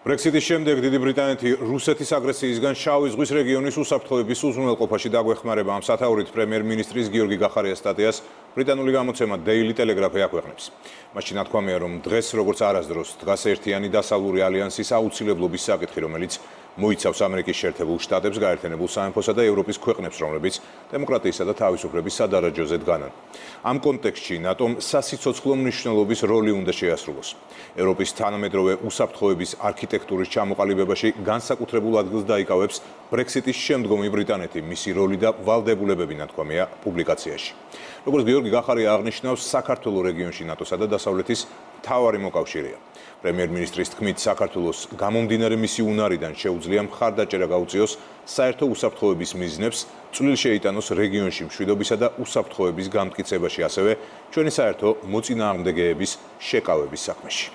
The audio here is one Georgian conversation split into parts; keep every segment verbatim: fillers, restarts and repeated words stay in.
Brexit-ის შემდეგ დიდი ბრიტანეთი რუსეთის აგრესიისგან შავი ზღვის რეგიონის უსაფრთხოების უზრუნველყოფაში დაგვეხმარება. Ამ სათაურით პრემიერ-მინისტრის გიორგი გახარიას სტატიას ბრიტანული გამოცემა Daily Telegraph აქვეყნებს. მაშინ ნათქვამია, რომ დღეს როგორც არასდროს დგას ერთიანი დასავლური ალიანსის აუცილებლობის საკითხი, რომელიც მოიცავს ამერიკის შეერთებულ შტატებს, გაერთიანებულ სამეფოსა და ევროპის ქვეყნებს, რომლებიც დემოკრატიისა და თავისუფლების სადარაჯოზე დგანან. Ამ კონტექსტში ნატომ სასიცოცხლო მნიშვნელობის როლი უნდა შეასრულოს. ევროპის თანამედროვე უსაფრთხოების არქიტექტურის ჩამოყალიბებაში განსაკუთრებულ ადგილს დაიკავებს Brexit-ის შემდგომი ბრიტანეთი, მისი როლი და ვალდებულებები, ნათქვამია პუბლიკაციაში. Როგორც გიორგი გახარია აღნიშნავს, საქართველოს რეგიონში ნატოსა და დასავლეთის მთავარი მოკავშირეა. პრემიერ-მინისტრის თქმით, საქართველოს გამომდინარე მისი უნარიდან შეუძლია მხარდაჭერა გაუწიოს საერთო უსაფრთხოების მიზნებს, წვლილი შეიტანოს რეგიონში მშვიდობისა და უსაფრთხოების განმტკიცებაში, ასევე ჩვენი საერთო მოწინააღმდეგეების შეკავების საქმეში.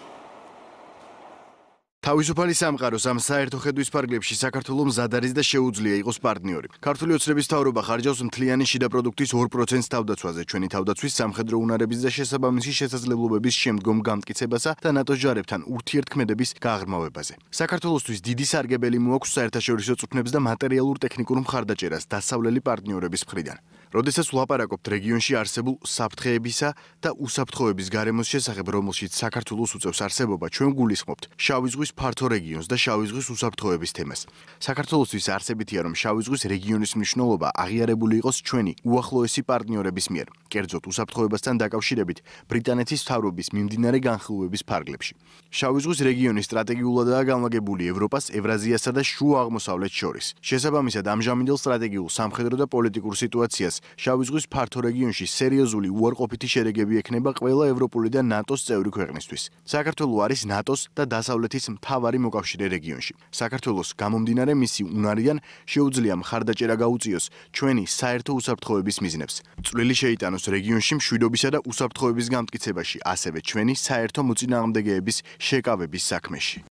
თავისუფალი სამყაროს ამ საერთო ხედვის ფარგლებში საქართველოს მზად არის და შეუძლია იყოს პარტნიორი. ქართული ოცნების მთავრობა ხარჯავს მთლიანი შიდა პროდუქტის ორ პროცენტს თავდაცვაზე, ჩვენი თავდაცვის სამხედრო უნარების და შესაბამისი შესაძლებლობების შემდგომ განმტკიცებასა და ნატოს ჯარებთან ურთიერთქმედების გაღრმავებაზე. საქართველოსთვის დიდი სარგებელი მოაქვს საერთაშორისო წვრთნებს და მატერიალურ ტექნიკურ მხარდაჭერას დასავლელი პარტნიორების მხრიდან. როდესაც ვლაპარაკობთ რეგიონში არსებულ საფრთხეებისა და უსაფრთხოების გარემოს შესახებ, რომელშიც საქართველოს უწევს არსებობა, ჩვენ გულისხმობთ შავი ზღვის ფართო რეგიონს და შავი ზღვის უსაფრთხოების თემას. საქართველოსთვის არსებითია, რომ შავი ზღვის რეგიონის მნიშვნელობა აღიარებული იყოს ჩვენი უახლოესი პარტნიორების მიერ, კერძოდ უსაფრთხოებასთან დაკავშირებით ბრიტანეთის მთავრობის მიმდინარე განხილვების ფარგლებში. შავი ზღვის რეგიონი სტრატეგიულადაა განლაგებული ევროპას, ევრაზიასა და შუა აღმოსავლეთს შორის. შესაბამისად, ამჟამინდელ სტრატეგიულ სამხედრო და პოლიტიკურ სიტუაციას შავი ზღვის ფართო რეგიონში სერიოზული უარყოფითი შერეგები ექნება ყველა ევროპული და ნატოს წევრი ქვეყნისთვის. საქართველო არის ნატოს და დასავლეთის მთავარი მოკავშირე რეგიონში. საქართველოს გამომდინარე მისი უნარიდან შეუძლია მხარდაჭერა გაუწიოს ჩვენი საერთო უსაფრთხოების მიზნებს. წვლილი შეიტანოს რეგიონში მშვიდობისა და უსაფრთხოების განმტკიცებაში, ასევე ჩვენი საერთო მოწინააღმდეგეების შეკავების საქმეში.